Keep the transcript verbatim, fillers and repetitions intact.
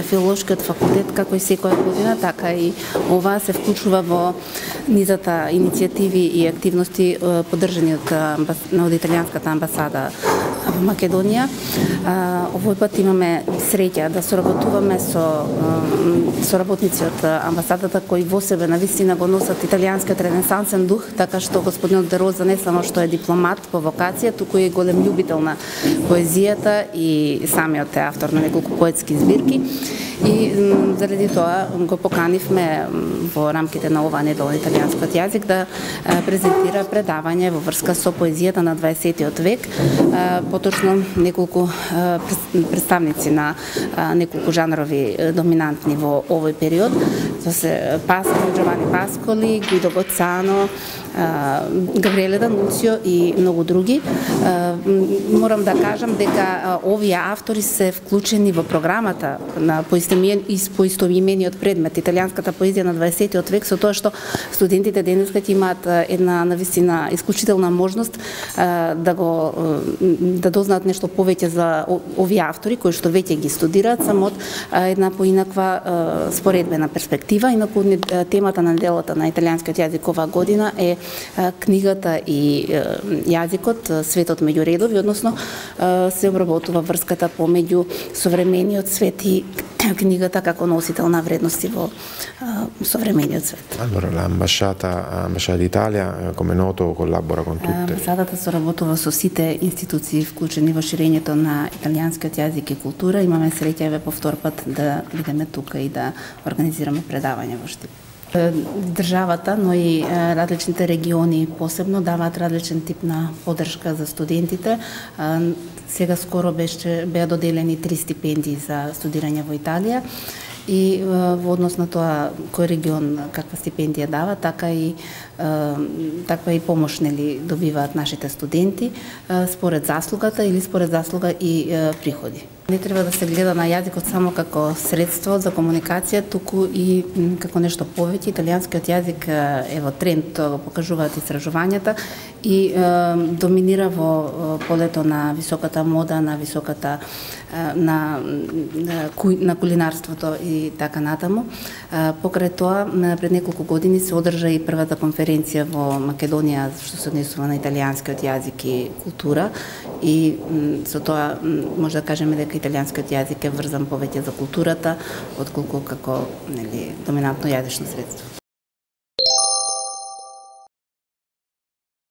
Филолошкиот факултет, како и секоја година, така и ова се вклучува во низата иницијативи и активности поддржани од, од италијанската амбасада во Македонија. Овој пат имаме среќа да соработуваме со соработници од амбасадата кои во себе навистина го носат италијанскиот ренесансен дух, така што господинот Де Роза не само што е дипломат по вокација, туку е голем љубител на поезијата и самиот е автор на неколку поетски збирки. И заради тоа го поканивме во рамките на оваа недела на италијанскиот јазик да презентира предавање во врска со поезијата на дваесеттиот век, поточно неколку представници на неколку жанрови доминантни во овој период. Тоа се Пасколи, Джовани Пасколи, Гуидо Гоцано, Габриеле Дануцио и многу други. Морам да кажам дека овие автори се вклучени во програмата на поистоимениот предмет италијанската поезија на дваесеттиот век, со тоа што студентите денеска ќе имаат една навистина исклучителна можност да го да дознаат нешто повеќе за овие автори кои што веќе ги студираат само од една поинаква споредбена перспектива. Инаку темата на неделата на италијанскиот јазик оваа година е книгата и јазикот, светот меѓу редови, односно се обработува врската помеѓу современиот свет и книгата како носител на вредности во современиот свет. Allora l'ambasciata ambasciata d'Italia, come noto, collabora con tutte. Амбасадата соработува со сите институции вклучени во ширењето на италијанскиот јазик и култура. Имаме среќа еве повтор пат да бидеме тука и да организираме предавање во Штип. Државата, но и различните региони посебно даваат различен тип на поддршка за студентите. Сега скоро беше беа доделени три стипендии за студирање во Италија и во однос на тоа кој регион каква стипендија дава, така и таква и помош нели добиваат нашите студенти според заслугата или според заслуга и приходи. Не треба да се гледа на јазикот само како средство за комуникација, туку и како нешто повеќе. Италијанскиот јазик е во тренд, тоа го покажуваат истражувањата и доминира во полето на високата мода, на високата на на кулинарството и така натаму. Покрај тоа, пред неколку години се одржа и првата конференција во Македонија што се однесува на италијанскиот јазик и култура и со тоа може да кажеме дека италијанскиот јазик е врзан повеќе за културата отколку како нели доминантно јазично средство.